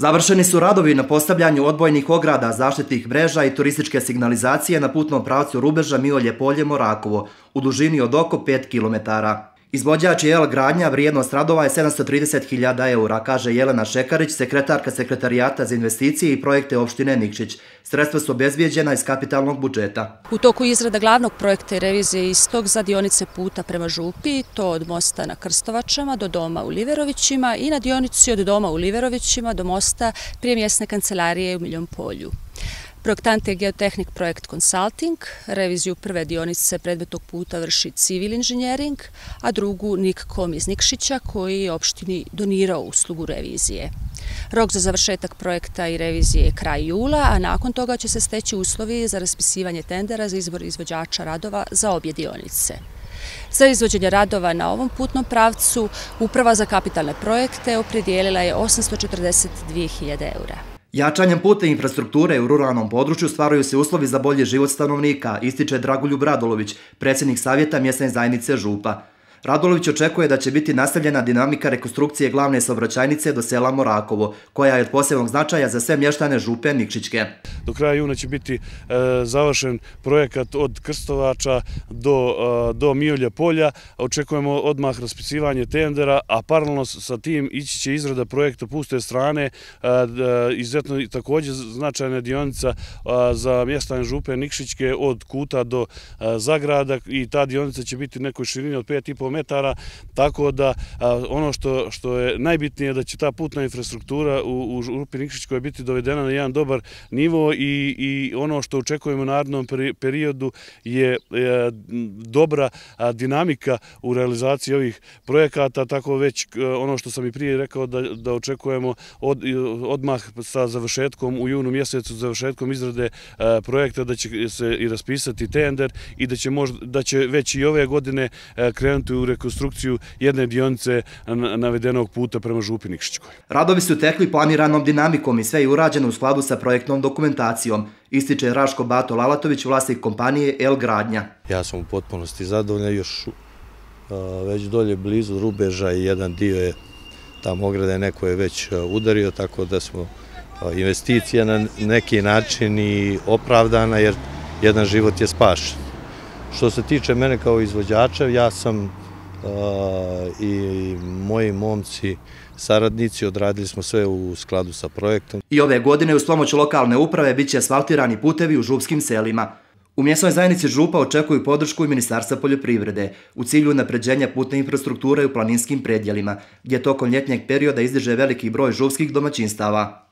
Završeni su radovi na postavljanju odbojnih ograda, zaštitnih mreža i turističke signalizacije na putnom pravcu Rubeža Miolje Polje-Morakovo u dužini od oko 5 km. Izvođač je Gradnja, vrijednost radova je 730.000 eura, kaže Jelena Šekarić, sekretarka Sekretarijata za investicije i projekte opštine Nikšić. Sredstva su obezbijeđena iz kapitalnog budžeta. U toku izrada glavnog projekta i revizije istog za dionice puta prema Župi, to od mosta na Krstovačama do doma u Liverovićima i na dionici od doma u Liverovićima do mosta prije mjesne kancelarije u Miljom Polju. Projektant je Geotehnik Projekt Consulting, reviziju prve dionice predmetnog puta vrši Civil Engineering, a drugu Nikkom iz Nikšića koji je opštini donirao uslugu revizije. Rok za završetak projekta i revizije je kraj jula, a nakon toga će se steći uslovi za raspisivanje tendera za izbor izvođača radova za obje dionice. Za izvođenje radova na ovom putnom pravcu Uprava za kapitalne projekte opredijelila je 842.000 eura. Jačanjem putne infrastrukture u ruralnom području stvaraju se uslovi za bolji život stanovnika, ističe Dragoljub Radolović, predsjednik Savjeta mjesne zajednice Župa. Radolović očekuje da će biti nastavljena dinamika rekonstrukcije glavne saobraćajnice do sela Morakovo, koja je od posebnog značaja za sve mještane Župe Nikšićke. Do kraja juna će biti završen projekat od Krstovača do Miolja Polja. Očekujemo odmah raspisivanje tendera, a paralelno sa tim ići će izrada projekta puste strane, izuzetno također značajna dionica za mještane Župe Nikšićke od Kuta do Zagrada i ta dionica će biti nekoj širini od 5,5 metara, tako da ono što je najbitnije da će ta putna infrastruktura u Župi Nikšićkoj biti dovedena na jedan dobar nivo i ono što očekujemo u narednom periodu je dobra dinamika u realizaciji ovih projekata, tako već ono što sam i prije rekao da očekujemo odmah sa završetkom u junu mjesecu, završetkom izrade projekta da će se i raspisati tender i da će već i ove godine krenuti u rekonstrukciju jedne dionice navedenog puta prema Župi Nikšićkoj. Radovi su tekli planiranom dinamikom i sve je urađeno u skladu sa projektnom dokumentacijom, ističe Raško Bato Lalatović, vlasnik kompanije Gradnja. Ja sam u potpunosti zadovoljan, još već dolje blizu Rubeža i jedan dio je tamo ograde, neko je već udario, tako da smo investicija na neki način i opravdana jer jedan život je spašen. Što se tiče mene kao izvođača, ja sam i moji momci, saradnici, odradili smo sve u skladu sa projektom. I ove godine uz pomoć lokalne uprave bit će asfaltirani putevi u župskim selima. U mjesnoj zajednici Župa očekuju podršku i Ministarstva poljoprivrede u cilju unapređenja putne infrastrukture u planinskim predjelima, gdje tokom ljetnjeg perioda izdiže veliki broj župskih domaćinstava.